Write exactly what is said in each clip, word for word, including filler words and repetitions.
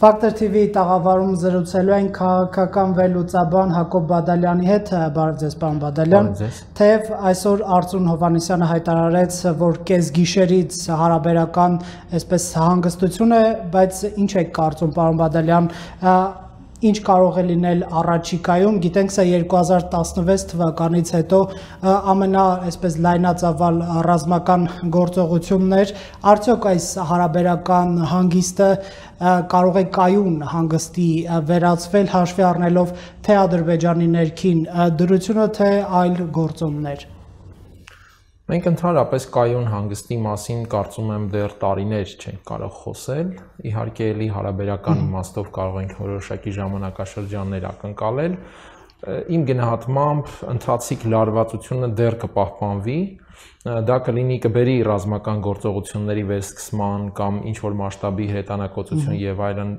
Factor T V-ի տաղավարում զրուցելու են քաղաքական վերլուծաբան Հակոբ Բադալյանի հետ, բարև ձեզ պարոն Բադալյան, թեև այսօր Արծրուն Հովհաննիսյանը հայտարարեց, որ կեսգիշերից հարաբերական այսպես հանգստություն է, բայց ինչ եք կարծում պարոն Բադալյան, ինչ կարող է լինել առաջիկայում, գիտենք սա երկու հազար տասնվեց թվականից հետո ամենա այսպես լայնածավալ ռազմական գործողություններ, արդյոք այս հարաբերական հանգիստը կարող է կայուն հանգստի վերածվել հաշվի առնելով թե Ադրբեջանի ներքին դրությունը, թե այլ գործոններ։ Մենք ընդհանրապես կայուն հանգստի մասին կարծում եմ դեռ տարիներ չենք կարող խոսել, իհարկե էլի հարաբերական իմաստով կարող ենք որոշակի ժամանակաշրջաններ ակնկալել, իմ գնահատմամբ ընթացիկ լարվածությունը դեռ կպահպանվի, դա կլինի կբերի ռազմական գործողությունների վերսկսման կամ ինչ-որ մասշտաբի հրետանակոծություն եւ այլն,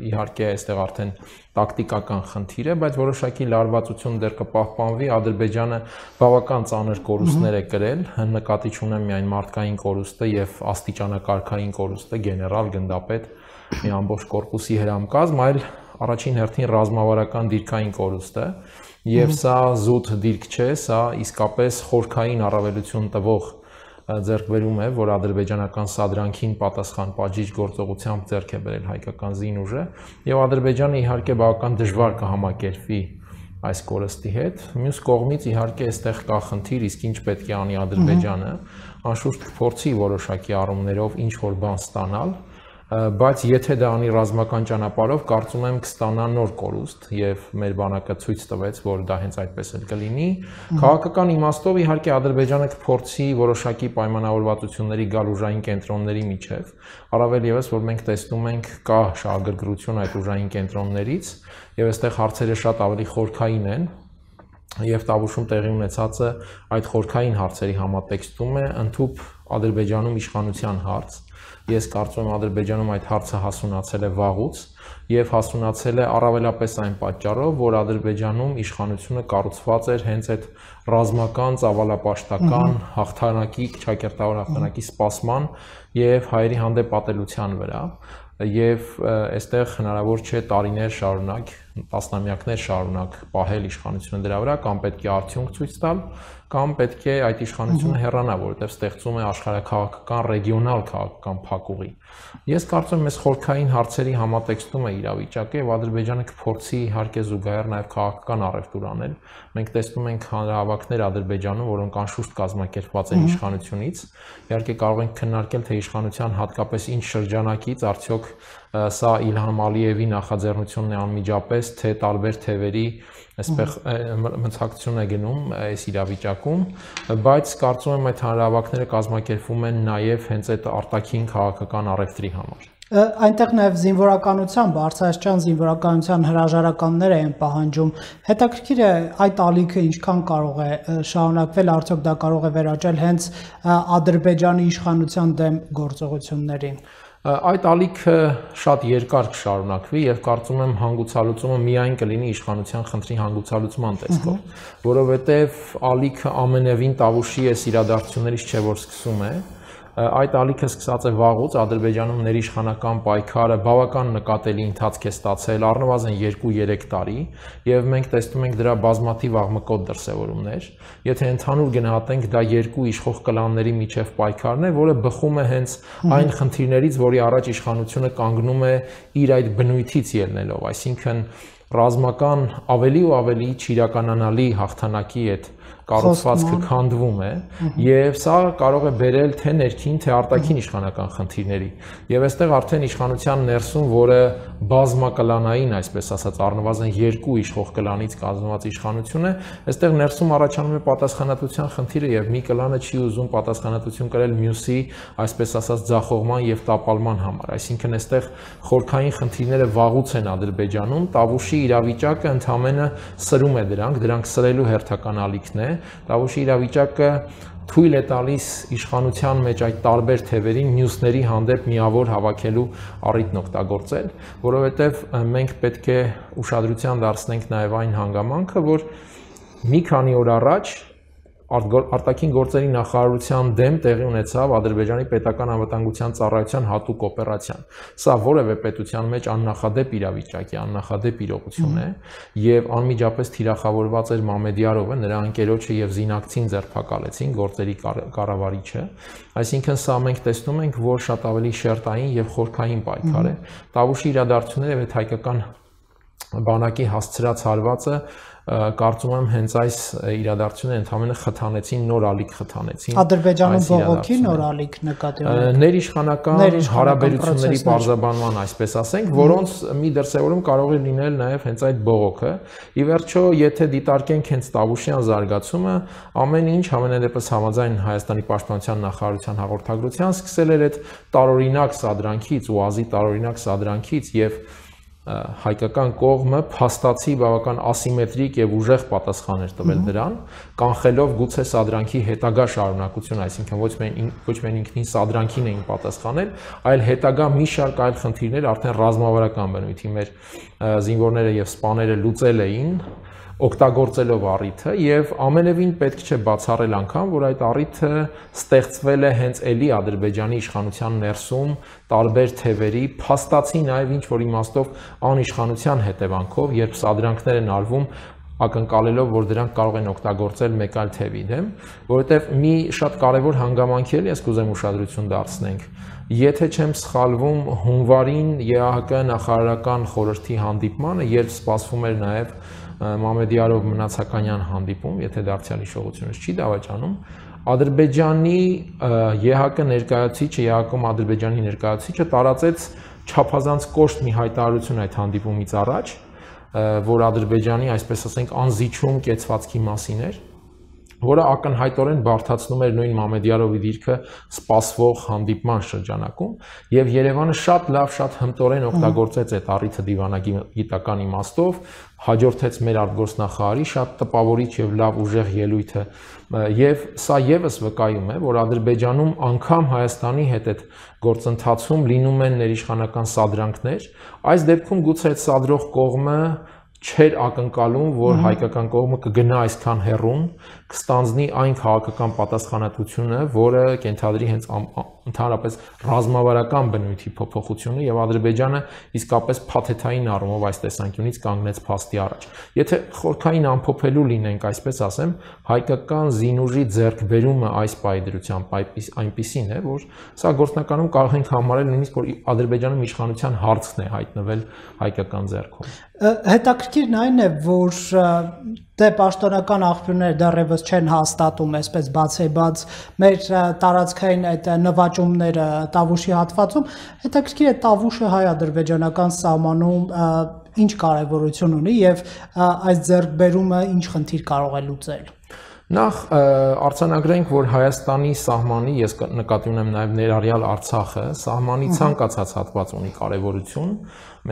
իհարկե այստեղ արդեն տակտիկական խնդիր է, բայց որոշակի լարվածություն դեռ կպահպանվի, Ադրբեջանը բավական ծանր կորուստներ է կրել, նկատի չունեմ միայն մարդկային կորուստը եւ աստիճանակարգային կորուստը, գեներալ, գնդապետ, մի ամբողջ կորպուսի հրամկազմ, այլ առաջին հերթին ռազմավարական դիրքային կորուստը, եւ սա զուտ դիրք չէ, սա իսկապես խորքային առավելություն տվող ձեռքբերում է, որ ադրբեջանական սադրանքին պատասխան պատժիչ գործողությամբ ձեռք է բերել հայկական զինուժը, եւ Ադրբեջանը իհարկե բավական դժվար կհամակերպվի այս կորստի հետ, մյուս կողմից իհարկե այստեղ կա խնդիր, իսկ ինչ պետք է անի Ադրբեջանը, անշուշտ կփորձի որոշակի առումներով ինչ որ բան ստանալ, բայց եթե դա անի ռազմական ճանապարհով, կարծում եմ կստանա նոր կորուստ եւ մեր բանակը ցույց տվեց, որ դա հենց այդպես էլ կլինի։ Քաղաքական իմաստով իհարկե Ադրբեջանը կփորձի որոշակի պայմանավորվածությունների գալ ուժային կենտրոնների միջև, առավել եւս որ մենք տեսնում ենք կա շահագրգռություն այդ ուժային կենտրոններից եւ այստեղ հարցերը շատ ավելի խորքային են եւ Տավուշում տեղի ունեցածը այդ խորքային հարցերի համատեքստում է ընդհանուր Ադրբեջանում իշխանության հարց։ Ես կարծում եմ Ադրբեջանում այդ հարցը հասունացել է վաղուց եւ հասունացել է առավելապես այն պատճառով, որ Ադրբեջանում իշխանությունը կառուցված էր հենց այդ ռազմական, ծավալապաշտական հաղթանակի, ճակերտավոր հաղթանակի սպասման եւ հայերի հանդեպ ատելության վրա եւ այստեղ հնարավոր չէ տարիներ շարունակ, տասնամյակներ շարունակ պահել իշխանությունը դրա վրա, կամ պետք է արդյունք ցույց տալ, կամ պետք է այդ իշխանությունը հեռանա, որովհետեւ ստեղծում է աշխարհաքաղաքական, ռեգիոնալ քաղաքական փակուղի։ Ես կարծում եմ, այս խորքային հարցերի համատեքստում է իրավիճակը եւ Ադրբեջանը կփորձի իհարկե զուգահեռ նաեւ քաղաքական առևտուր անել։ Մենք տեսնում ենք հանրահավաքներ Ադրբեջանում, որոնք անշուշտ կազմակերպված են իշխանությունից։ Իհարկե կարող ենք քննարկել, թե իշխանության հատկապես ինչ շրջանակից արդյոք սա Իլհամ Ալիևի նախաձեռնությունն է անմիջապես, թե տարբեր թևերի այսպես մցակցություն է գնում այս իրավիճակում, բայց կարծում եմ այդ հանրահավաքները կազմակերպվում են նաև հենց այդ արտաքին քաղաքական առևտրի համար։ Այնտեղ նաև զինվորականության, բարձրաստիճան զինվորականության հրաժարականներ են պահանջում։ Հետաքրքիր է այդ ալիքը ինչքան կարող է շարունակվել, արդյոք դա կարող է վերաճել հենց Ադրբեջանի իշխանության դեմ գործողություններին։ Այդ ալիքը շատ երկար կշարունակվի եւ կարծում եմ հանգուցալուծումը միայն կլինի իշխանության խնդրի հանգուցալուծման տեսքով, որովհետեւ ալիքը ամենևին Տավուշի այս իրադարձություններից չէ որ սկսում է, այդ ալիքը սկսած է վաղուց, Ադրբեջանում ներիշխանական պայքարը բավական նկատելի ընթացք է ստացել առնվազն երկու-երեք տարի եւ մենք տեսնում ենք դրա բազմաթիվ աղմկոտ դրսեւորումներ։ Եթե ընդհանուր գնահատենք, դա երկու իշխող կլանների միջև պայքարն է, որը բխում է հենց այն խնդիրներից, որի առաջ իշխանությունը կանգնում է իր այդ բնույթից ելնելով, այսինքն ռազմական ավելի ու ավելի չիրականանալի հաղթանակի այդ կառուցվածքը քանդվում է եւ սա կարող է բերել թե ներքին թե արտաքին իշխանական խնդիրների եւ այստեղ արդեն իշխանության ներսում, որը բազմակլանային, այսպես ասած, առնվազն երկու իշխող կլանից կազմված իշխանություն է, այստեղ ներսում առաջանում է պատասխանատվության խնդիրը եւ մի կլանը չի ուզում պատասխանատվություն կրել մյուսի, այսպես ասած, ձախողման եւ տապալման համար, այսինքն այստեղ խորքային խնդիրները վաղուց են Ադրբեջանում, Տավուշի իրավիճակը ընդհանրապես սրում է դրանք, դրանք սրելու հերթական ալիքն է։ Տավուշի իրավիճակը թույլ է տալիս իշխանության մեջ այդ տարբեր թևերին մյուսների հանդեպ միավոր հավաքելու առիթն օգտագործել, որովհետև մենք պետք է ուշադրության դարձնենք նաև այն հանգամանքը, որ մի քանի օր առաջ արտաքին գործերի նախարարության դեմ տեղի ունեցավ Ադրբեջանի պետական անվտանգության ծառայության հատուկ օպերացիան։ Սա որևէ պետության մեջ աննախադեպ իրավիճակ է, աննախադեպ իրողություն է, եւ անմիջապես թիրախավորված էր Մամեդյարովը, նրա ընկերոջը եւ զինակցին ձերբակալեցին գործերի կառավարիչը։ Այսինքն սա մենք տեսնում ենք, որ շատ ավելի շերտային եւ խորքային պայքար է։ Տավուշի իրադարձությունները եւ այդ հայկական բանակի հասցրած հարվածը կարծում եմ հենց այս իրադարձությունները ընդհանրապես խթանեցին, նոր ալիք խթանեցին։ Ադրբեջանում բողոքի նոր ալիք նկատի ունեք։ Ներիշխանական հարաբերությունների բարձրաբանման, այսպես ասենք, որոնց մի դրսևորում կարող է լինել նաև հենց այդ բողոքը։ Ի վերջո, եթե դիտարկենք հենց Տավուշյան զարգացումը, ամեն ինչ համենայնդեպս համաձայն Հայաստանի պաշտպանության նախարարության հաղորդագրության սկսել էր այդ տարօրինակ սադրանքից, ՈՒԱԶ-ի տարօրինակ սադրանքից եւ հայկական կողմը փաստացի բավական ասիմետրիկ եւ ուժեղ պատասխաններ տվել դրան, կանխելով գուցե սադրանքի հետագա շարունակություն, այսինքն ոչ միայն ոչ միայն ինքնին սադրանքին էին պատասխանել, այլ հետագա մի շարք այլ խնդիրներ արդեն ռազմավարական բնույթի մեր զինվորները եւ սպաները լուծել էին, օգտագործելով առիթը եւ ամենևին պետք չէ բացառել անգամ, որ այդ առիթը ստեղծվել է հենց էլի Ադրբեջանի իշխանության ներսում տարբեր թևերի, փաստացի նաեւ ինչ որ իմաստով անիշխանության հետևանքով, երբ սադրանքներ են արվում ակնկալելով, որ դրանք կարող են օգտագործել մեկ այլ թևի դեմ, որովհետեւ մի շատ կարեւոր հանգամանք էլ ես կուզեմ ուշադրություն դարձնենք։ Եթե չեմ սխալվում, հունվարին ԵԱՀԿ նախարարական խորհրդի հանդիպմանը, երբ սպասվում էր նաեւ Մամեդյարով Մնացականյան հանդիպում, եթե դարձյալ հիշողությունս չի դավաճանում, Ադրբեջանի ԵԱՀԿ ներկայացուցիչը, ԵԱՀԿ-ում Ադրբեջանի ներկայացուցիչը տարածեց չափազանց կոշտ մի հայտարարություն այդ հանդիպումից առաջ, որ Ադրբեջանի, այսպես ասենք, անզիջում կեցվածքի մասին էր, որը ակնհայտորեն բարդացնում էր նույն Մամեդյարովի դիրքը սպասվող հանդիպման շրջանակում, եւ Երևանը շատ լավ, շատ հմտորեն օգտագործեց այդ առիթը դիվանագիտական իմաստով, հաջորդեց մեր արտգործնախարարի շատ տպավորիչ եւ լավ ուժեղ ելույթը, եւ սա եւս վկայում է, որ Ադրբեջանում անգամ Հայաստանի հետ այդ գործընթացում լինում են ներիշխանական սադրանքներ, այս դեպքում գուցե այդ սադրող կողմը չէր ակնկալում, որ հայկական կողմը կգնա այսքան հեռուն, կստանձնի այն քաղաքական պատասխանատվությունը, որը կենթադրի հենց ընդհանրապես ռազմավարական բնույթի փոփոխությունը եւ Ադրբեջանը իսկապես փաթեթային առումով այս տեսանկյունից կանգնեց փաստի առաջ։ Եթե խորքային ամփոփելու լինենք, այսպես ասեմ, հայկական զինուժի ձեռքբերումը այս պայդրությամբ այնպիսին է, որ սա գործնականում կարող ենք համարել նույնիսկ որ Ադրբեջանում իշխանության հարցն է հայտնվել հայկական ձեռքում։ Հետաքրքիրն այն է, որ դե պաշտոնական աղբյուրները դեռևս չեն հաստատում, այսպես բացեբաց մեր տարածքային այդ նվաճումները Տավուշի հատվածում, հետաքրքիր է Տավուշը հայ-ադրբեջանական սահմանում ինչ կարևորություն ունի եւ այս ձեռքբերումը ինչ խնդիր կարող է լուծել։ Նախ արձանագրենք, որ Հայաստանի սահմանի, ես նկատի ունեմ նաև ներառյալ Արցախը, սահմանի ցանկացած հատված ունի կարևորություն,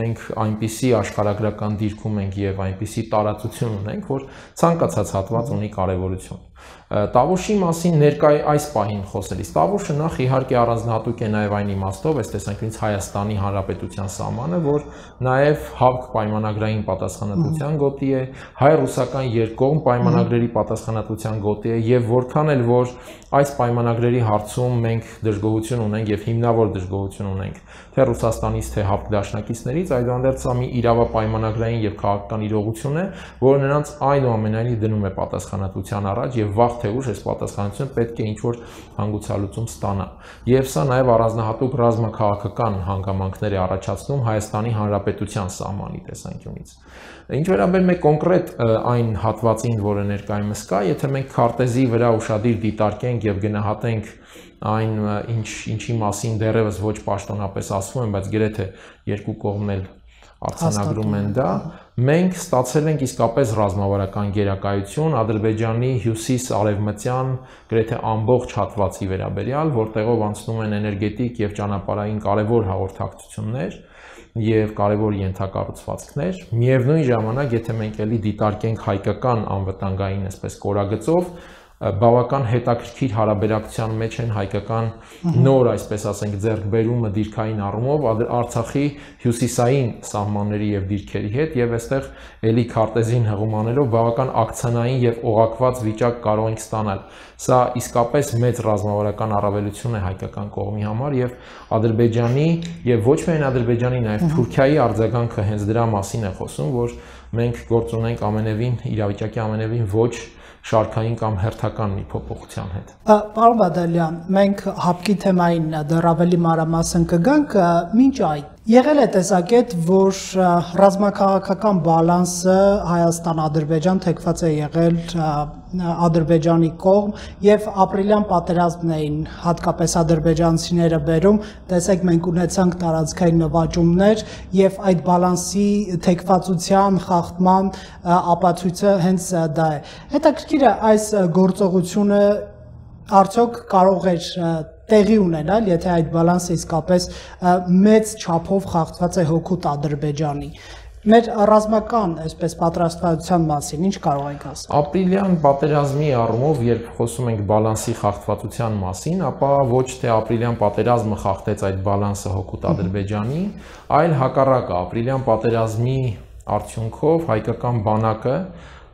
մենք այնպիսի աշխարհագրական դիրքում ենք եւ այնպիսի տարածություն ունենք, որ ցանկացած հատված ունի կարևորություն։ Տավուշի մասին ներկայ այս պահին խոսելիս, Տավուշը նախ իհարկե առանձնահատուկ է նաև այն իմաստով, այս տեսանկյունից Հայաստանի Հանրապետության սահմանը, որ նաև ՀԱՎԿ պայմանագրային պատասխանատվության գոտի է, հայ-ռուսական երկկողմ պայմանագրերի պատասխանատվության գոտի է եւ որքան էլ որ այս պայմանագրերի հարցում մենք դժգոհություն ունենք եւ հիմնավոր դժգոհություն ունենք թե Ռուսաստանից թե ՀԱՎԿ դաշնակիցներից, այդուհանդերձ սա մի իրավապայմանագրային եւ քաղաքական իրողություն է, որը նրանց այնուամենայնիվ դնում է պատասխանատվության առաջ եւ վաղ թե ուշ այս պատասխանատվությունը պետք է ինչ-որ հանգուցալուծում ստանա։ Եվ սա նաև առանձնահատուկ ռազմաքաղաքական հանգամանքներ է առաջացնում Հայաստանի Հանրապետության սահմանի տեսանկյունից։ Ինչ վերաբերում է կոնկրետ այն հատվածին, որը ներկայումս կա, եթե մենք քարտեզի վրա ուշադիր դիտարկենք եւ գնահատենք այն ինչ ինչի մասին դեռևս ոչ պաշտոնապես ասվում են, բայց գրեթե երկու կողմն էլ արձանագրում են դա, մենք ստացել ենք իսկապես ռազմավարական գերակայություն Ադրբեջանի հյուսիս-արևմտյան գրեթե ամբողջ հատվածի վերաբերյալ, որտեղով անցնում են էներգետիկ եւ ճանապարհային կարևոր հաղորդակցություններ եւ կարևոր ենթակառուցվածքներ։ Միևնույն ժամանակ, եթե մենք էլի դիտարկենք հայկական անվտանգային, այսպես կորագծով, բավական հետաքրքիր հարաբերակցության մեջ են հայկական նոր, այսպես ասենք, ձեռքբերումը դիրքային առումով Արցախի հյուսիսային սահմանների եւ դիրքերի հետ եւ այստեղ էլի քարտեզին հղում անելով բավական ակցիոնային եւ օղակված վիճակ կարող ենք ստանալ։ Սա իսկապես մեծ ռազմավարական առավելություն է հայկական կողմի համար եւ Ադրբեջանի եւ ոչ միայն Ադրբեջանի նաեւ Թուրքիայի արձագանքը հենց դրա մասին է խոսում, որ մենք գործ ունենք ամենևին իրավիճակի ամենևին ոչ շարքային կամ հերթական մի փոփոխության հետ։ Պարոն Բադալյան, մենք հապկի թեմային դեռ ավելի մանրամասն կգանք, մինչ այդ եղել է տեսակետ, որ ռազմաքաղաքական բալանսը Հայաստան-Ադրբեջան թեքված է եղել Ադրբեջանի կողմ եւ ապրիլյան պատերազմն էին հատկապես ադրբեջանցիները բերում, տեսեք մենք ունեցանք տարածքային նվաճումներ եւ այդ բալանսի թեքվածության խախտման ապացույցը հենց դա է։ Հետաքրքիր է այս գործողությունը արդյոք կարող էր տեղի ունենալ, եթե այդ բալանսը իսկապես մեծ չափով խախտված է հօգուտ Ադրբեջանի։ Մեր ռազմական, այսպես պատրաստվածության մասին ինչ կարող ենք ասել։ Ապրիլյան պատերազմի առումով, երբ խոսում ենք բալանսի խախտվածության մասին, ապա ոչ թե ապրիլյան պատերազմը խախտեց այդ բալանսը հօգուտ Ադրբեջանի, այլ հակառակը, ապրիլյան պատերազմի արդյունքով հայկական բանակը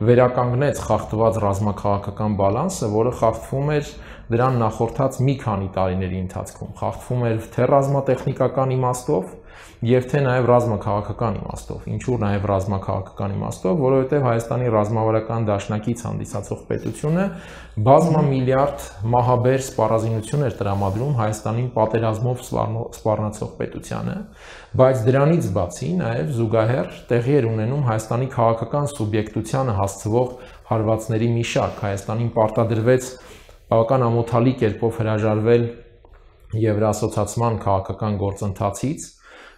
վերականգնեց խախտված ռազմաքաղաքական բալանսը, որը խախտվում էր դրան նախորդած մի քանի տարիների ընթացքում, խախտվում էր թե ռազմատեխնիկական իմաստով եւ թե նաեւ ռազմաքաղաքական իմաստով։ Ինչու նաեւ ռազմաքաղաքական իմաստով, որովհետեւ Հայաստանի ռազմավարական դաշնակից հանդիսացող պետությունը բազմամիլիարդ մահաբեր սպառազինություն էր տրամադրում Հայաստանին պատերազմով սպառնացող պետությանը, բայց դրանից բացի նաեւ զուգահեռ տեղի էր ունենում Հայաստանի քաղաքական սուբյեկտությանը հասցվող հարվածների մի շարք։ Հայաստանին պարտադրվեց բավական ամոթալի կերպով հրաժարվել Եվրասոցիացման քաղաքական գործընթացից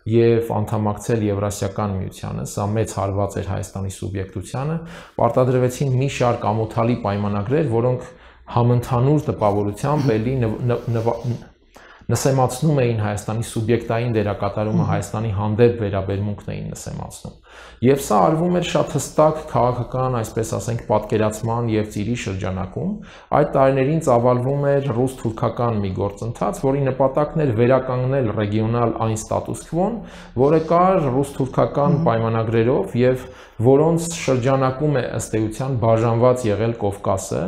եւ անդամակցել Եվրասիական միությանը, սա մեծ հարված էր Հայաստանի սուբյեկտությանը, պարտադրվեցին մի շարք ամոթալի պայմանագրեր, որոնք համընդհանուր տպավորությամբ էլի նսեմացնում էին Հայաստանի սուբյեկտային դերակատարումը, Հայաստանի հանդեպ վերաբերմունքն էին նսեմացնում։ Եվ սա արվում էր շատ հստակ քաղաքական, այսպես ասենք, պատկերացման եւ ծիրի շրջանակում։ Այդ տարիներին ծավալվում էր ռուս-թուրքական մի գործընթաց, որի նպատակն էր վերականգնել ռեգիոնալ այն ստատուս քվոն, որը կար ռուս-թուրքական պայմանագրերով եւ որոնց շրջանակում է ըստ էության բաժանված եղել Կովկասը։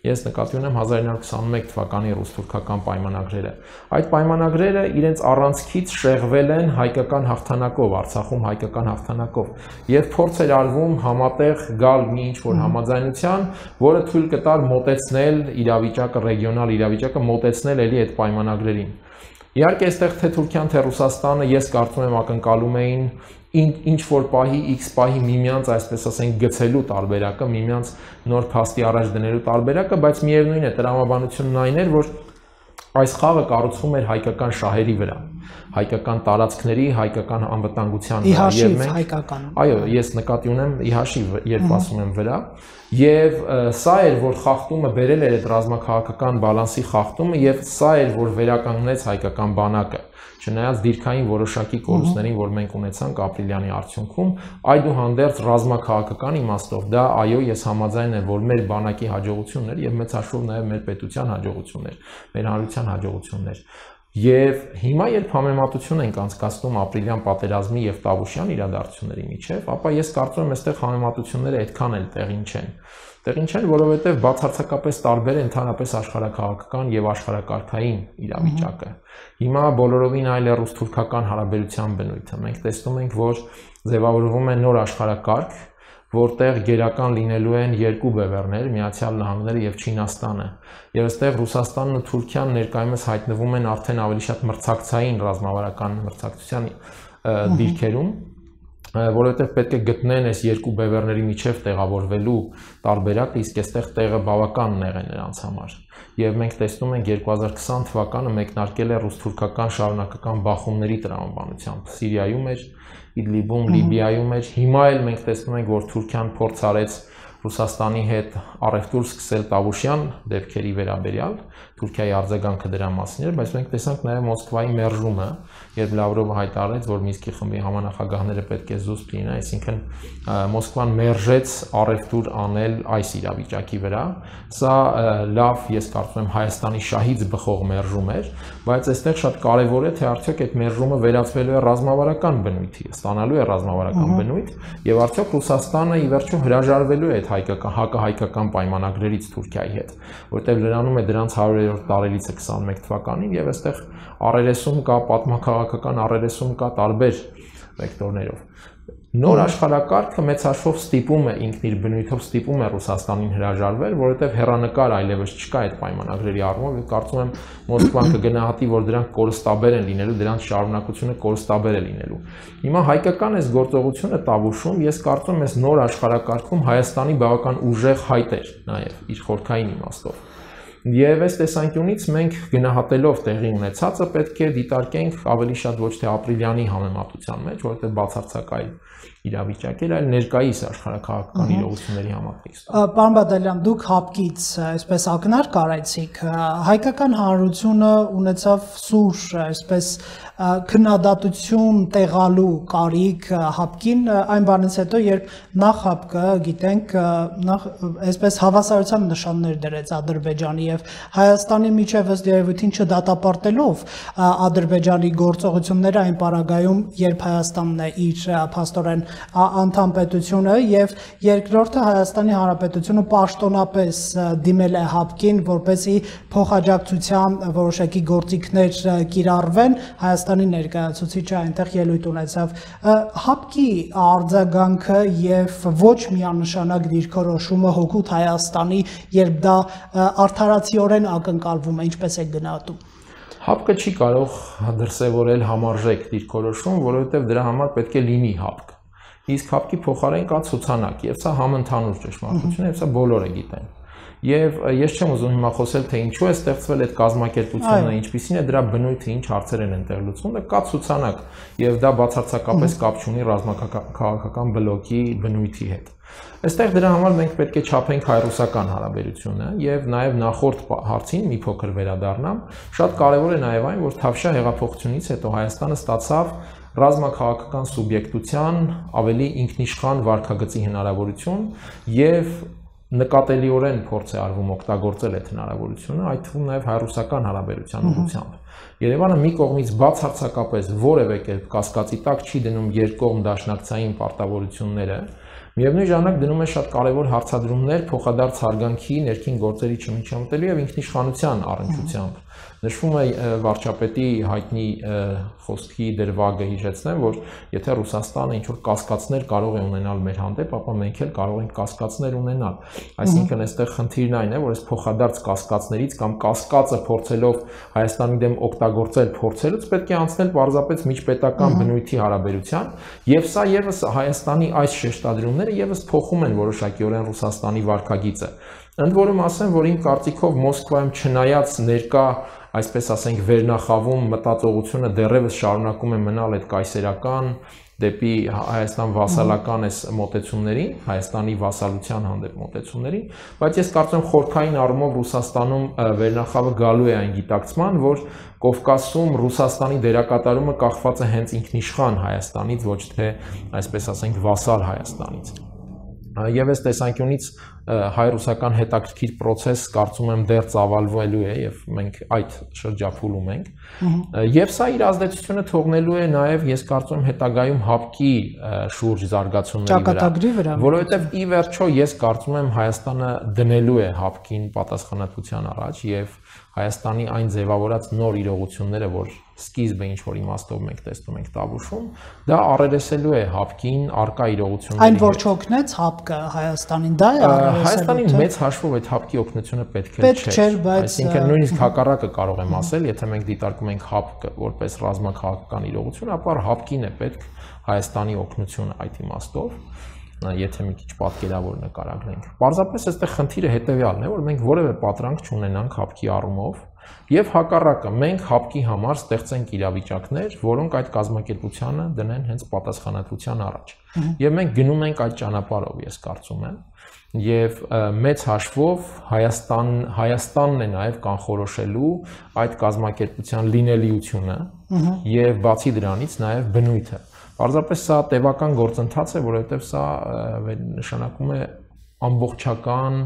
Ես նկատի ունեմ հազար իննսուն քսանմեկ թվականի ռուս-թուրքական պայմանագրերը։ Այդ պայմանագրերը իրենց առանցքից շեղվել են հայկական հաղթանակով, Արցախում հայկական հաղթանակով, եւ փորձ էր արվում համատեղ գալ մի ինչ-որ համաձայնության, որը թույլ կտար մոտեցնել իրավիճակը, ռեգիոնալ իրավիճակը մոտեցնել էլի այդ պայմանագրերին։ Իհարկե, այստեղ թե Թուրքիան, թե Ռուսաստանը, ես կարծում եմ ակնկալում էին ինչ որ պահի, X պահի միմյանց, այսպես ասենք, գցելու տարբերակը, միմյանց նոր փաստի առաջ դնելու տարբերակը, բայց միևնույն է, տրամաբանությունն այն էր, որ այս խաղը կառուցվում էր հայկական շահերի վրա, հայկական տարածքների, հայկական անվտանգության վրա, եւ մենք հայկական։ Այո, ես նկատի ունեմ ի հաշիվ, երբ ասում եմ վրա, եւ սա էր, որ խախտումը բերել էր այդ ռազմաքաղաքական բալանսի խախտումը, եւ սա էր, որ վերականգնեց հայկական բանակը։ Չնայած դիրքային որոշակի կորուստներին, որ մենք ունեցանք ապրիլյանի արդյունքում, այդուհանդերձ ռազմաքաղաքական իմաստով դա այո, ես համաձայն եմ, որ մեր բանակի հաջողությունն էր եւ մեծ հաշվով նաեւ մեր պետության հաջողությունն էր, մեր հանրության հաջողությունն էր։ Եվ հիմա երբ համեմատություն ենք անցկացնում ապրիլյան պատերազմի եւ Տավուշյան իրադարձությունների միջեւ, ապա ես կարծում եմ, այստեղ համեմատությունները այդքան էլ տեղին չեն։ Տեղին չեն, որովհետեւ բացարձակապես տարբեր է ընդհանրապես աշխարհակաղակական եւ աշխարհակարգային իրավիճակը։ Հիմա բոլորովին այլ է ռուս-թուրքական հարաբերության բնույթը։ Մենք տեսնում ենք, որ ձևավորվում է նոր աշխարհակարգ, որտեղ գերական լինելու են երկու բևեռներ՝ Միացյալ Նահանգները եւ Չինաստանը։ Եվ այստեղ Ռուսաստանն ու Թուրքիան ներկայումս հայտնվում են արդեն ավելի շատ մրցակցային ռազմավարական մրցակցության դիրքերում, որովհետև պետք է գտնեն այս երկու բևեռների միջև տեղավորվելու տարբերակը, իսկ այստեղ տեղը բավական նեղ է նրանց համար։ Եվ մենք տեսնում ենք երկու հազար քսան թվականը մեկնարկել է ռուս-թուրքական շարունակական բախումների տրամաբանությամբ։ Սիրիայում էր, Իդլիբում, Լիբիայում էր։ Հիմա էլ մենք տեսնում ենք, որ Թուրքիան փորձ արեց Ռուսաստանի հետ առևտուր սկսել Տավուշյան դեպքերի վերաբերյալ, Թուրքիայի արձագանքը դրա մասին էր, բայց մենք տեսանք նաև Մոսկվայի մերժումը, երբ Լավրովը հայտարարեց, որ Մինսկի խմբի համանախագահները պետք է զուսպ լինեն, այսինքն Մոսկվան մերժեց առևտուր անել այս իրավիճակի վրա։ Սա լավ, ես կարծում եմ Հայաստանի շահից բխող մերժում էր, բայց այստեղ շատ կարևոր է, թե արդյոք այդ մերժումը վերածվելու է ռազմավարական բնույթի, ստանալու է ռազմավարական բնույթ, եւ արդյոք Ռուսաստանը ի վերջո հրաժարվելու է այդ հայկական հակահայկական պայմանագրերից Թուրքիայի հետ, որտեղ լրանում է դրանց հարյուրերորդ տարելիցը քսանմեկ թվականին եւ այստեղ առերեսում կա պատմաքաղաքական առերեսում կա տարբեր վեկտորներով։ Նոր աշխարհակարգը մեծ հաշվով ստիպում է ինքն իր բնույթով ստիպում է Ռուսաստանին հրաժարվել, որովհետև հեռանկար այլևս չկա այդ պայմանագրերի առումով, եւ կարծում եմ Մոսկվան կգնահատի, որ դրանք կորստաբեր են լինելու, դրանց շարունակությունը կորստաբեր է լինելու։ Հիմա հայկական այս գործողությունը Տավուշում, ես կարծում եմ, այս նոր աշխարհակարգում Հայաստանի բավական ուժեղ հայտ էր նաեւ իր խորքային իմաստով։ Եվ այս տեսանկյունից մենք գնահատելով տեղի ունեցածը պետք է դիտարկենք ավելի շատ ոչ թե ապրիլյանի համեմատության մեջ, որովհետև բացարձակ այլ իրավիճակ էր, այլ ներկայիս աշխարհակաղակական իրողությունների համատեքստը։ Պարոն Բադալյան, դուք հապկից այսպես ակնարկ արեցիք, հայկական հանրությունը ունեցավ սուր, այսպես քննադատություն տեղալու կարիք հապկին այն բանից հետո, երբ նախ հապկը, գիտենք, նախ այսպես հավասարության նշաններ դրեց Ադրբեջանի եւ Հայաստանի միջև ըստ երևույթին չդատապարտելով Ադրբեջանի գործողությունները այն պարագայում, երբ Հայաստանն է իր փաստորեն անդամ պետությունը եւ երկրորդը Հայաստանի Հանրապետությունը պաշտոնապես դիմել է հապկին, որպեսզի փոխաջակցության որոշակի գործիքներ կիրառվեն, Հայաստանի ներկայացուցիչը այնտեղ ելույթ ունեցավ։ Հապկի արձագանքը եւ ոչ միանշանակ դիրքորոշումը հօգուտ Հայաստանի, երբ դա արդարացիորեն ակնկալվում է, ինչպես է գնահատում։ Հապկը չի կարող դրսևորել համարժեք դիրքորոշում, որովհետեւ դրա համար պետք է լինի հապկ։ Իսկ հապկի փոխարեն կա ցուցանակ, եւ սա համընդհանուր ճշմարտություն է, եւ սա բոլորը գիտեն։ Եվ ես չեմ ուզում հիմա խոսել, թե ինչու է ստեղծվել այդ կազմակերպությունը, ինչպիսին է դրա բնույթը, ինչ հարցեր են այնտեղ լուծվում, դա կա ցուցանակ, եւ դա բացարձակապես կապ չունի ռազմաքաղաքական բլոկի բնույթի հետ։ Այստեղ դրա համար մենք պետք է չափենք հայ-ռուսական հարաբերությունը եւ նաեւ նախորդ հարցին մի փոքր վերադառնամ, շատ կարեւոր է նաեւ այն, որ Թավշյա հեղափոխությունից հետո Հայաստանը ստացավ ռազմաքաղաքական սուբյեկտության ավելի ինքնիշխան վարքագծի հնարավորություն եւ նկատելիորեն փորձ է արվում օգտագործել այդ հնարավորությունը, այդ թվում նաև հայ-ռուսական հարաբերության ուղղությամբ։ Երևանը մի կողմից բացարձակապես որևէ կերպ կասկածի տակ չի դնում երկկողմ դաշնակցային պարտավորությունները, միևնույն ժամանակ դնում է շատ կարևոր հարցադրումներ փոխադարձ հարգանքի, ներքին գործերի չմիջամտելու եւ ինքնիշխանության առնչությամբ։ Նշվում է վարչապետի հայտնի խոսքի դրվագը հիշեցնեմ, որ եթե Ռուսաստանը ինչ-որ կասկածներ կարող է ունենալ մեր հանդեպ, ապա մենք էլ կարող ենք կասկածներ ունենալ։ Այսինքն այստեղ խնդիրն այն է, որ այս փոխադարձ կասկածներից կամ կասկածը փորձելով Հայաստանի դեմ օգտագործել փորձելուց պետք է անցնել պարզապես միջպետական բնույթի հարաբերության, եւ սա եւս Հայաստանի այս շեշտադրումները եւս փոխում են որոշակիորեն Ռուսաստանի վարքագիծը։ Ընդ որում ասեմ, որ իմ կարծիքով Մոսկվայում չնայած ներկա, այսպես ասենք, վերնախավում մտածողությունը դեռևս շարունակում է մնալ այդ կայսերական դեպի Հայաստան վասալական այս մոտեցումներին, Հայաստանի վասալության հանդեպ մոտեցումներին, բայց ես կարծում եմ խորքային առումով Ռուսաստանում վերնախավը գալու է այն գիտակցման, որ Կովկասում Ռուսաստանի դերակատարումը կախված է հենց ինքնիշխան Հայաստանից, ոչ թե, այսպես ասենք, վասալ Հայաստանից։ Եվ այս տեսանկյունից հայ-ռուսական հետաքրքիր process կարծում եմ դեռ ծավալվելու է եւ մենք այդ շրջափուլում ենք եւ սա իր ազդեցությունը թողնելու է նաեւ ես կարծում եմ հետագայում հապկի շուրջ զարգացումների վրա, որովհետեւ ի վերջո ես կարծում եմ Հայաստանը դնելու է հապկին պատասխանատվության առաջ եւ Հայաստանի այն ձևավորած նոր իրողությունները, որ սկիզբը ինչ որ իմաստով մենք տեսնում ենք Տավուշում, դա առերեսելու է հապկին արկա իրողությունների։ Այն որ չօգնեց հապկը Հայաստանին, դա է առերեսելու։ Հայաստանին մեծ հաշվով այդ հապկի օգնությունը պետք է չէր, այսինքն նույնիսկ հակառակը կարող եմ ասել, եթե մենք դիտարկում ենք հապկը որպես ռազմաքաղաքական իրողություն, ապա հապկին է պետք Հայաստանի օգնությունը այդ իմաստով, եթե մի քիչ պատկերավոր նկարագրենք։ Պարզապես այստեղ խնդիրը հետևյալն է, որ մենք որևէ պատրանք չունենանք հապկի առումով Եվ հակառակը մենք հապկի համար ստեղծենք իրավիճակներ, որոնք այդ կազմակերպությանը դնեն հենց պատասխանատվության առաջ։ Եվ մենք գնում ենք այդ ճանապարհով, ես կարծում եմ, եւ մեծ հաշվով Հայաստան Հայաստանն է նաեւ կանխորոշելու այդ կազմակերպության լինելիությունը եւ բացի դրանից նաեւ բնույթը։ Պարզապես սա տևական գործընթաց է, որովհետեւ սա նշանակում է ամբողջական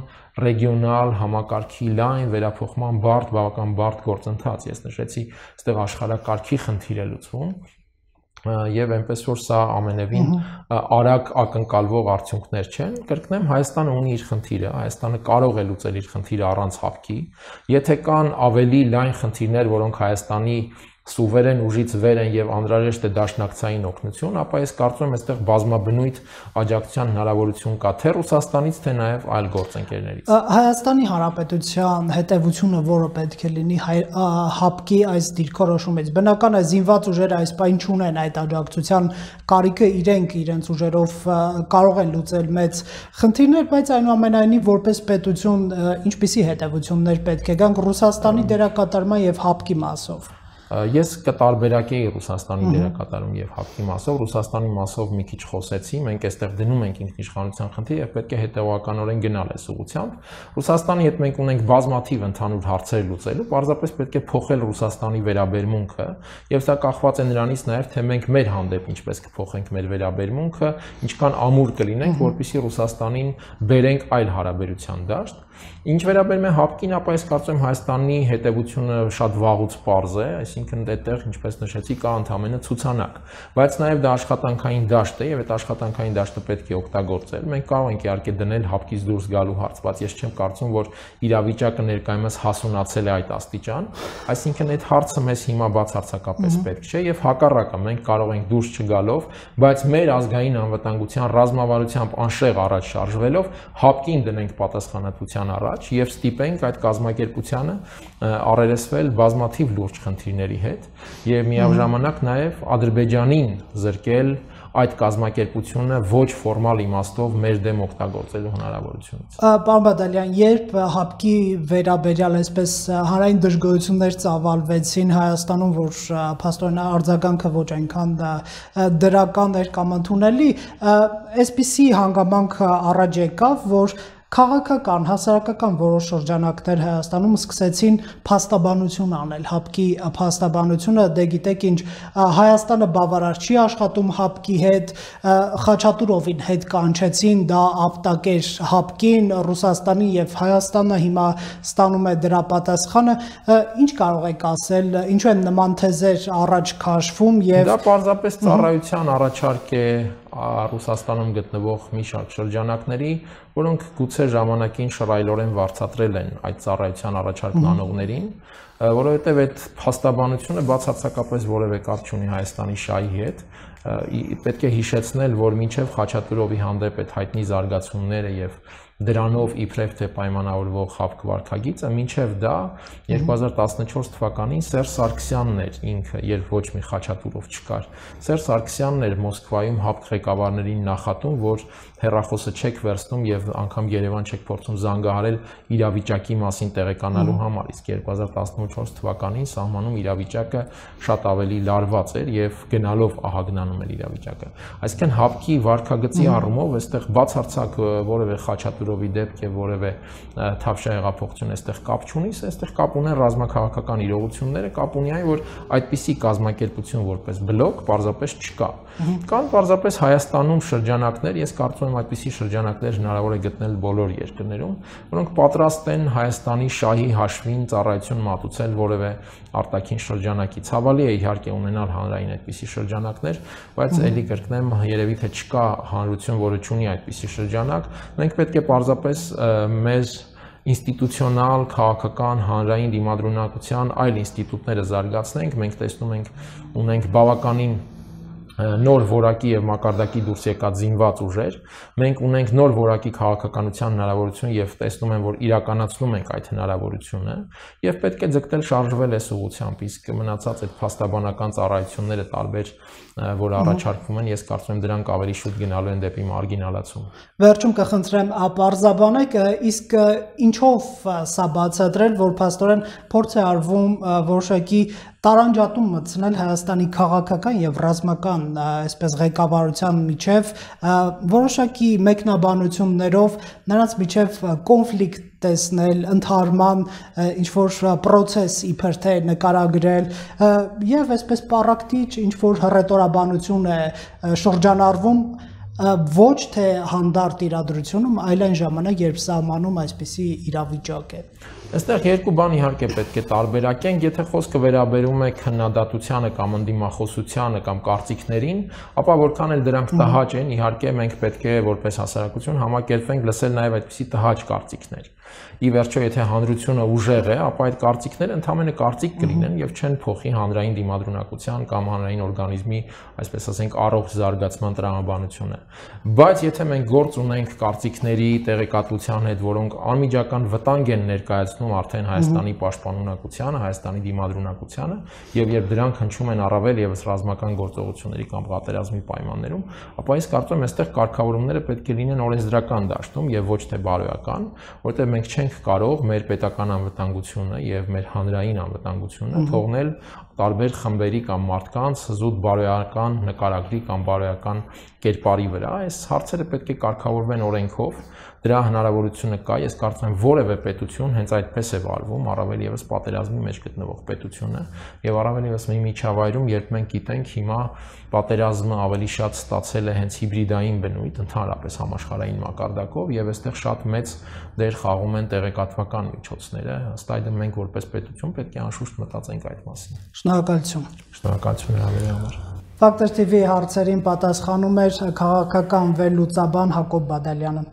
ռեգիոնալ համակարգի լայն վերափոխման բարդ, բավական բարդ գործընթաց։ Ես նշեցի, այստեղ աշխարհակարգի խնդիր է լուծվում եւ այնպես որ սա ամենևին արագ ակնկալվող արդյունքներ չեն։ Կրկնեմ, Հայաստանը ունի իր խնդիրը, Հայաստանը կարող է լուծել իր խնդիրը առանց հապկի։ Եթե կան ավելի լայն խնդիրներ, որոնք Հայաստանի սուվերեն ուժից վեր են եւ անհրաժեշտ է դաշնակցային օգնություն, ապա ես կարծում եմ այստեղ բազմաբնույթ աջակցության հնարավորություն կա թե Ռուսաստանից, թե նաեւ այլ գործընկերներից։ Հայաստանի Հանրապետության հետևությունը որը պետք է լինի հապկի այս դիրքորոշումից։ Բնական է զինված ուժերը այս պայն չունեն այդ աջակցության կարիքը, իրենք իրենց ուժերով կարող են լուծել մեծ խնդիրներ, բայց այնուամենայնիվ որպես պետություն ինչպիսի հետևություններ պետք է գան Ռուսաստանի դերակատարման եւ հապկի մասով։ Ես կտարբերակեի Ռուսաստանի դերակատարում եւ հապկի մասով, Ռուսաստանի մասով մի քիչ խոսեցի, մենք այստեղ դնում ենք ինքնիշխանության խնդիր եւ պետք է հետեւականորեն գնալ այս ուղղությամբ։ Ռուսաստանի հետ մենք ունենք բազմաթիվ ընդհանուր հարցեր լուծելու, պարզապես պետք է փոխել Ռուսաստանի վերաբերմունքը եւ սա կախված է նրանից նաեւ թե մենք մեր հանդեպ ինչպես կփոխենք մեր վերաբերմունքը, ինչքան ամուր կլինենք, որպեսզի Ռուսաստանին բերենք այլ հարաբերության դաշտ։ Ինչ վերաբերում է հապկին, ապա ես կարծում եմ Հայաստանի հետևությունը շատ վաղուց պարզ է, այսինքն այդտեղ, ինչպես նշեցի, կա ընդհանրապես ցուցանակ, բայց նաև դա աշխատանքային դաշտ է եւ այդ աշխատանքային դաշտը պետք է օգտագործել։ Մենք կարող ենք իհարկե դնել հապկից դուրս գալու հարց, բայց ես չեմ կարծում, որ իրավիճակը ներկայումս հասունացել է այդ աստիճան, այսինքն այդ հարցը մեզ հիմա բացարձակապես պետք չէ եւ հակառակը մենք կարող ենք դուրս չգալով, բայց մեր ազգային անվտանգության ռազմավարությամբ անշեղ առաջ շարժվելով հապկին դնենք պատասխանատվության առաջ եւ ստիպենք այդ կազմակերպությանը առերեսվել բազմաթիվ լուրջ խնդիրների հետ եւ միաժամանակ նաեւ Ադրբեջանին զրկել այդ կազմակերպությունը ոչ ֆորմալ իմաստով մեր դեմ օգտագործելու հնարավորությունից։ Պարոն Բադալյան, երբ հապկի վերաբերյալ այսպես հանրային դժգոհություններ ծավալվեցին Հայաստանում, որ փաստորեն արձագանքը ոչ այնքան դրական էր կամ ընդունելի, այսպիսի հանգամանք առաջ եկավ, որ քաղաքական, հասարակական որոշ շրջանակներ Հայաստանում սկսեցին փաստաբանություն անել, հապկի փաստաբանությունը, դե գիտեք ինչ, Հայաստանը բավարար չի աշխատում հապկի հետ, Խաչատուրովին հետ կանչեցին, դա ապտակեր հապկին, Ռուսաստանի եւ Հայաստանը հիմա ստանում է դրա պատասխանը, ինչ կարող եք ասել, ինչու են նման թեզեր առաջ քաշվում եւ դա պարզապես ծառայության առաջարկ է Ռուսաստանում գտնվող մի շարք շրջանակների, որոնք գուցե ժամանակին շռայլորեն վարձատրել են այդ ծառայության առաջարկն անողներին, որովհետև այդ փաստաբանությունը բացարձակապես որևէ կապ չունի Հայաստանի շահի հետ, պետք է հիշեցնել, որ մինչև Խաչատուրովի հանդեպ այդ հայտնի զարգացումները եւ դրանով իբրև թե պայմանավորվող հապկ վարքագիծը, մինչև դա երկու հազար տասնչորս թվականին Սերժ Սարգսյանն էր ինքը, երբ ոչ մի Խաչատուրով չկար, Սերժ Սարգսյանն էր Մոսկվայում հապկ ղեկավարներին նախատում, որ հեռախոսը չեք վերցնում եւ անգամ Երևան չեք փորձում զանգահարել իրավիճակի մասին տեղեկանալու համար, իսկ երկու հազար տասնչորս թվականին սահմանում իրավիճակը շատ ավելի լարված էր եւ գնալով ահագնանում էր իրավիճակը։ Այսինքն հապկի վարքագծի առումով այստեղ բացարձակ որևէ Խաչատուրովի դեպք եւ որևէ թավշյա հեղափոխություն այստեղ կապ չունի, այստեղ կապ ունեն ռազմաքաղաքական իրողությունները, կապ ունի այն, որ այդպիսի կազմակերպություն որպես բլոկ պարզապես չկա։ Կան պարզապես Հայաստանում շրջանակներ, ես կարծում եմ այդպիսի շրջանակներ հնարավոր է գտնել բոլոր երկրներում, որոնք պատրաստ են Հայաստանի շահի հաշվին ծառայություն մատուցել որևէ արտաքին շրջանակի։ Ցավալի է իհարկե ունենալ հանրային այդպիսի շրջանակներ, բայց ելի կրկնեմ, երևի թե չկա հանրություն, որը չունի այդպիսի շրջանակ, մենք պետք է պարզապես մեզ ինստիտուցիոնալ, քաղաքական, հանրային դիմադրունակության այլ ինստիտուտները զարգացնենք, մենք տեսնում ենք ունենք բավականին նոր որակի եւ մակարդակի դուրս եկած զինված ուժեր, մենք ունենք նոր որակի քաղաքականության հնարավորություն եւ տեսնում եմ, որ իրականացնում ենք այդ հնարավորությունը եւ պետք է ձգտել շարժվել այս ուղղությամբ, իսկ մնացած այդ փաստաբանական ծառայությունները տարբեր, որ առաջարկվում են, ես կարծում եմ դրանք ավելի շուտ գնալու են դեպի մարգինալացում։ Վերջում կխնդրեմ ապարզաբանեք, իսկ ինչով սա բացատրել, որ փաստորեն փորձ է արվում որոշակի տարանջատում մտցնել Հայաստանի քաղաքական եւ ռազմական այսպես ղեկավարության միջև որոշակի մեկնաբանություններով նրանց միջև կոնֆլիկտ տեսնել, ընդհարման ինչ որ process իբր թե նկարագրել եւ այսպես պարակտիչ ինչ որ հռետորաբանություն է շրջանառվում ոչ թե հանդարտ իրադրությունում, այլ այն ժամանակ, երբ սահմանում այսպիսի իրավիճակ է։ Այստեղ երկու բան իհարկե պետք է տարբերակենք, եթե խոսքը վերաբերում է քննադատությանը կամ ընդդիմախոսությանը կամ կարծիքներին, ապա որքան էլ դրանք տհաճ են, իհարկե մենք պետք է որպես հասարակություն համակերպվենք լսել նաև այդպիսի տհաճ կարծիքներ։ Ի վերջո, եթե հանրությունը ուժեղ է, ապա այդ կարծիքները ընդհանրապես կարծիք կլինեն եւ չեն փոխի հանրային դիմադրունակության կամ հանրային օրգանիզմի, այսպես ասենք, առողջ զարգացման տրամաբանությունը։ Բայց եթե մենք գործ ունենք կարծիքների տեղեկատվության հետ, որոնք անմիջական վտանգ են ներկայացնում արդեն Հայաստանի պաշտպանունակությանը, Հայաստանի դիմադրունակությանը, եւ երբ դրանք հնչում են առավել եւս ռազմական գործողությունների կամ պատերազմի պայմաններում, ապա ես կարծում եմ, այստեղ կարգավորումները պետք է լինեն օրենսդրական դաշտում եւ ոչ թե բարոյական, որտեղ մենք չենք կարող մեր պետական անվտանգությունը եւ մեր հանրային անվտանգությունը թողնել տարբեր խմբերի կամ մարդկանց զուտ բարոյական նկարագրի կամ բարոյական կերպարի վրա։ Այս հարցերը պետք է կարգավորվեն օրենքով, դրա հնարավորությունը կա, ես կարծում եմ որևէ պետություն հենց այդպես է վարվում, առավել եւս պատերազմի մեջ գտնվող պետությունը եւ առավել եւս մի միջավայրում, երբ մենք գիտենք հիմա պատերազմը ավելի շատ ստացել է հենց հիբրիդային բնույթ, ընդհանրապես համաշխարհային մակարդակով եւ այստեղ շատ մեծ դեր խաղում են տեղեկատվական միջոցները, ըստ այդմ մենք որպես պետություն պետք է անշուշտ մտածենք այդ մասին։ Շնորհակալություն։ Շնորհակալություն հրավերի համար։ Factor T V հարցերին պատասխանում էր քաղաքական վերլուծաբան Հակոբ Բադալյանը։